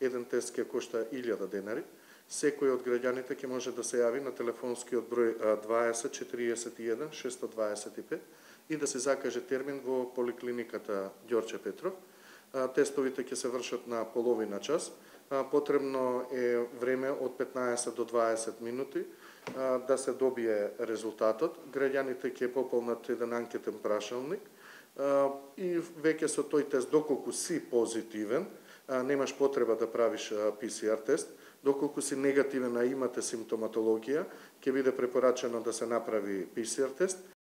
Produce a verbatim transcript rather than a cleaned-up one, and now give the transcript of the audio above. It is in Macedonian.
еден тест ќе кошта илјада денари. Секој од граѓаните ќе може да се јави на телефонскиот број дваесет четириесет и еден шестстотини дваесет и пет и да се закаже термин во поликлиниката Ѓорче Петров. Тестовите ќе се вршат на половина час. Потребно е време од петнаесет до дваесет минути да се добие резултатот. Граѓаните ќе пополнат еден анкетен прашалник и веќе со тој тест, доколку си позитивен, немаш потреба да правиш пи си ар тест. Доколку си негативен, а имате симптоматологија, ќе биде препорачено да се направи пи си ар тест